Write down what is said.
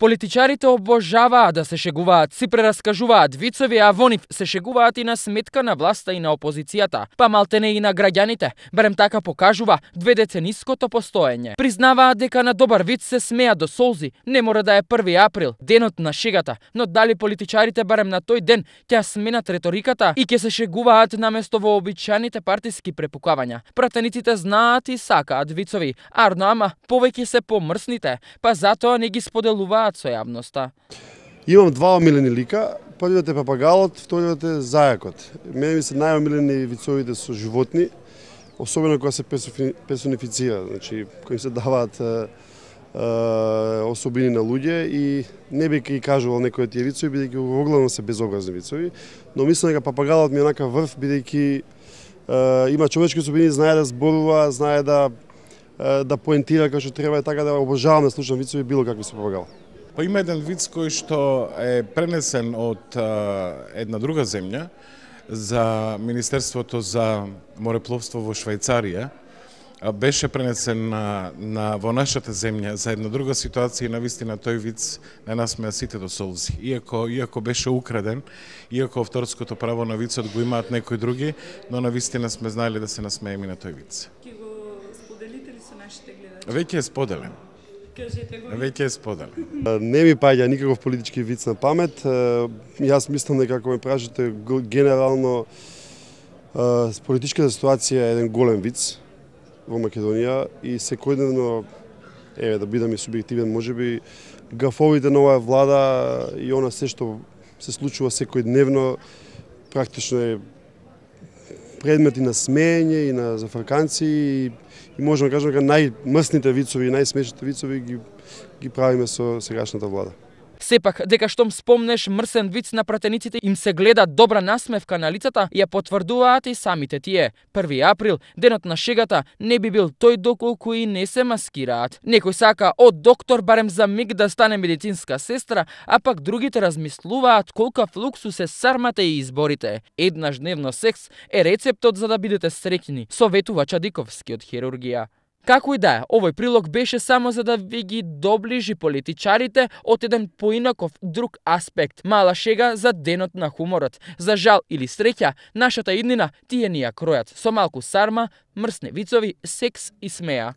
Политичарите обожаваат да се шегуваат, си прераскажуваат вицови, а во нив се шегуваат и на сметка на власта и на опозицијата, па малтене и на граѓаните, барем така покажува дведецениското постоење. Признаваат дека на добар виц се смеа до солзи, не мора да е 1 април, денот на шегата, но дали политичарите барем на тој ден ќе сменат реториката и ќе се шегуваат наместо вообичаените партиски препукавања. Пратениците знаат и сакаат вицови, арно ама повеќе се помрсните, па затоа не ги споделуваат со јавноста. Имам два омилени лика, првиот е папагалот, вториот е зајакот. Мене ми се најомилени вицовите со животни, особено кога се персонифицира, значи кои се даваат особини на луѓе и не би ги кажувал некои од тие вицови, бидејќи оглавно се безобразни вицови, но мислам дека папагалот ми е онака врв, бидејќи има човечки особини, знае да зборува, знае да поентира како што треба, така да обожавам да слушам вицови било какви со папагал. Па има еден виц кој што е пренесен од една друга земја за Министерството за морепловство во Швајцарија, беше пренесен во нашата земја за една друга ситуација и навистина тој виц на нас ме сите до солзи. Иако беше украден, иако авторското право на вицот го имаат некои други, но навистина сме знаеле да се насмееме на тој виц. Ќе го споделите ли со нашите гледачи? Веќе е споделен. Кажете го. Веќе е споделен. Не ми паѓа никаков политички виц на памет. Јас мислам дека ако ме прашате генерално политичката ситуација е еден голем виц во Македонија и секојдневно, да бидам и субјективен, можеби гафовите на оваа влада и она се што се случува секојдневно практично е предмети на смеење и на зафрканци и можеме да кажеме дека најмрсните вицови и најсмешните вицови ги правиме со сегашната влада. Сепак, дека штом спомнеш мрсен виц на пратениците им се гледа добра насмевка на лицата, ја потврдуваат и самите тие. 1 април, денот на шегата, не би бил тој доколку и не се маскираат. Некој сака од доктор барем за миг да стане медицинска сестра, а пак другите размислуваат колкав луксус е сармата и изборите. Еднаш дневно секс е рецептот за да бидете среќни, советува Чадиковски од хирургија. Како и да е, овој прилог беше само за да ви ги доближи политичарите од еден поинаков друг аспект. Мала шега за денот на хуморот. За жал или среќа, нашата иднина тие ни ја кројат со малку сарма, мрсни вицови, секс и смеа.